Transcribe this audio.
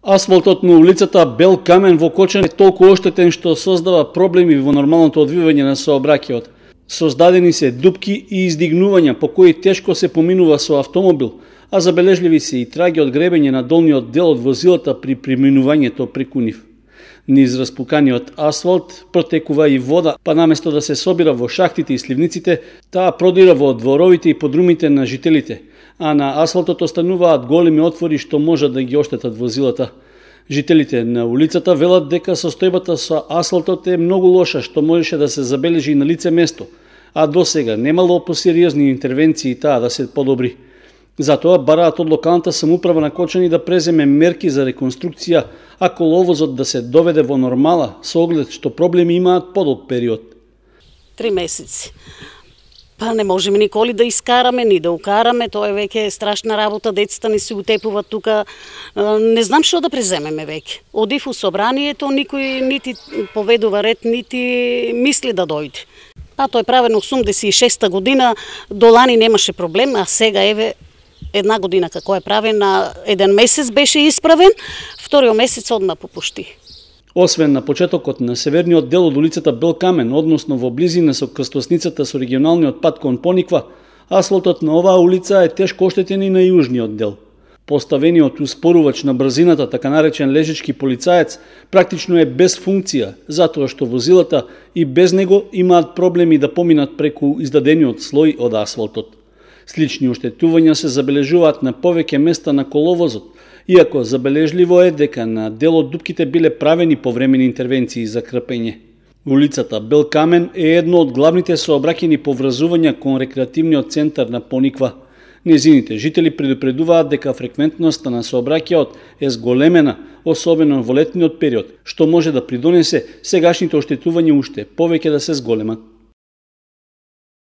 Асфалтот на улицата Бел Камен во Кочани е толку оштетен што создава проблеми во нормалното одвивање на сообраќајот. Создадени се дупки и издигнувања по кои тешко се поминува со автомобил, а забележливи се и траги од гребење на долниот дел од возилата при преминувањето преку нив. Низ распуканиот асфалт протекува и вода, па наместо да се собира во шахтите и сливниците, таа продира во дворовите и подрумите на жителите, а на асфалтот остануваат големи отвори што можат да ги оштетат возилата. Жителите на улицата велат дека состојбата со асфалтот е многу лоша, што можеше да се забележи на лице место, а досега немало посериозни интервенции таа да се подобри. Затоа бараат од локалната самоуправа на Кочани да преземе мерки за реконструкција, а коловозот да се доведе во нормала, со оглед што проблеми имаат подолг период. 3 месеци. Па не можеме николи да искараме, ни да укараме, тоа е веќе страшна работа, децата ни се утепуваат тука. Не знам што да преземеме веќе. Одив у собранието, никој нити поведува ред, нити мисли да дојде. А тоа е правено 86-та година, до лани немаше проблем, а сега еве една година како е правена, еден месец беше исправен, вториот месец одма попушти. Освен на почетокот на северниот дел од улицата Бел Камен, односно во близина со крстосницата со регионалниот пат кон Пониква, асфалтот на оваа улица е тешко оштетен и на јужниот дел. Поставениот успорувач на брзината, така наречен лежички полицаец, практично е без функција, затоа што возилата и без него имаат проблеми да поминат преку издадениот слој од асфалтот. Слични оштетувања се забележуваат на повеќе места на коловозот, иако забележливо е дека на дел од дупките биле правени повремени интервенции за крпење. Улицата Бел Камен е едно од главните сообраќајни поврзувања кон рекреативниот центар на Пониква. Незините жители предупредуваат дека фреквентноста на сообраќајот е зголемена, особено во летниот период, што може да придонесе сегашните оштетувања уште повеќе да се зголемат.